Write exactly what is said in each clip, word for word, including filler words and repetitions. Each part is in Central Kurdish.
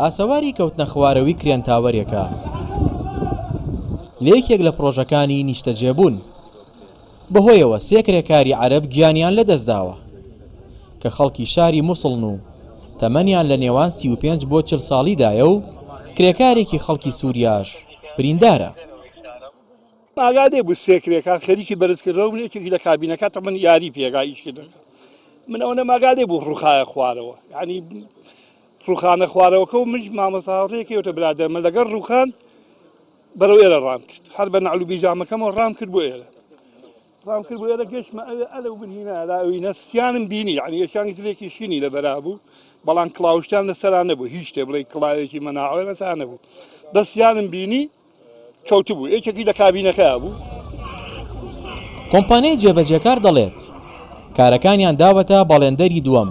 ئاسەواری کەوتنە خوارەوەی crane tower ێکە لە یەکێک لە پرۆژەکانی نیشتەجێبوون. بەهۆیەوە سێ کرێکاری عەرەب گیانیان لەدەستداوە کە خەڵکی شاری موسڵن و تەمەنیان لە نێوان سی و پێنج بۆ چل ساڵیدایە و کرێکارێکی خەڵکی سووریاش بریندارە. ئاگادێ بوو سێ کرێکار خەریکی بەرزکردنەوە بوون، یەکێکی لە کابینەکە تەمەن یاری پێگا ئیشکردەکە. من ئەوە نەماگادێ بوو ڕووخایە خوارەوە، یعنی ڕووخانە خوارەوەکە و منیش مامۆستا هاوڕێیەکەوتە برادەرمە لەگەڵ ڕووخان بەرەو ئێرە ڕام کرد، هەر بە نەعل و بیجامەکەمەوە ڕام کرد بۆ ئێرە، ڕام کرد بۆ ئێرە گەشتمە ئەوێ ئەلەو بن هینا لاوینە سیانم بینی، یعنی یەکیان جلێکی شینی لەبەرا بوو، بەڵام کڵاوشتیان لەسەرا نەبوو، هیچ شتێ بڵێ کڵاوێکی مەناعەوە لەسەرا نەبوو، بەس سیانم بینی کەوتبوو، یەکێکی لە کابینەکەیا بوو. کۆمپانیای جێبەجێکار دەڵێت کارەکانیان داوەتە بەڵێندەری دووەم،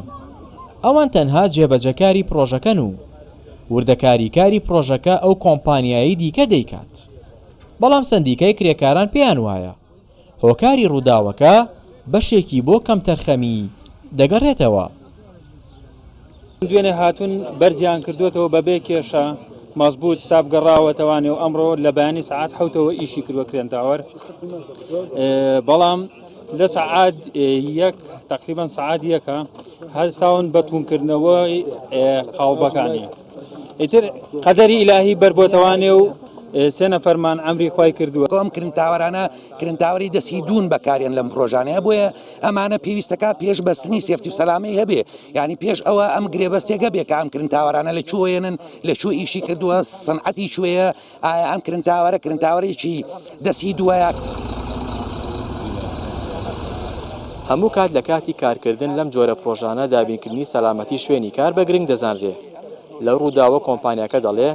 ئەوان تەنها جێبەجێکاری پرۆژەکەن و وردەکاری کاری پرۆژەکە ئەو کۆمپانیایی دیکە دەیکات. بەڵام سەندیکای کرێکاران پێیان وایە هۆکاری ڕووداوەکە بەشێکی بۆ کەمتەرخەمی دەگەڕێتەوە. دوێنێ هاتوون بەرزیان کردوێتەوە بەبێ کێشە، مەزبوط ستاف گەڕاوەتەوانێ و ئەمڕۆ لە بەیانی سەعات حەوتەوە ئیشی کردووە crane tower، بەڵام لە سەعات یەک تقریبا سەعات یەکە هەستاون بە توونکردنەوەی قاڵبەکانی. ئیتر قەدەری ئیلاهی بەربۆتەوانێ و سێ نەفەرمان ئەمری خوای کردووە. ئەم crane tower انە crane tower ی دەستی دوون بەکاریان لەم پرۆژانەیە، بۆیە ئەمانە پێویستەکە پێش بەستنی safety و سەلامەی هەبێ، یعنی پێش ئەوە ئەم گرێبەستێکە بێ کە ئەم crane tower انە لە کوێیەنن، لە کوێ ئیشی کردووە، سەنعەتی کوێیە، ئایا ئەم crane tower ە crane tower ێکی دەستی دووەیە. هەموو کات لە کاتی کارکردن لەم جۆرە پرۆژانە دابینکردنی سەلامەتی شوێنی کار بە گرنگ دەزانرێ. لەو ڕووداوە کۆمپانیاکە دەڵێ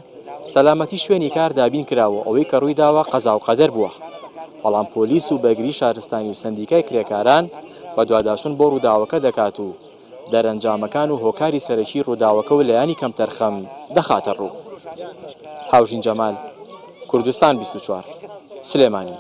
سەلامەتی شوێنی کار دابین کراوە، ئەوەی کە ڕووی داوە قەزا و قەدەر بووە. بەڵام پۆلیس و بەرگری شارستانی و سەندیکای کرێکاران بەدواداچوون بۆ ڕووداوەکە دەکات و دەرەنجامەکان و هۆکاری سەرەکی ڕووداوەکە و لایەنی کەمتەرخەم دەخاتە ڕوو. هاوژین جەمال، کوردستان بیست و چوار، سلێمانی.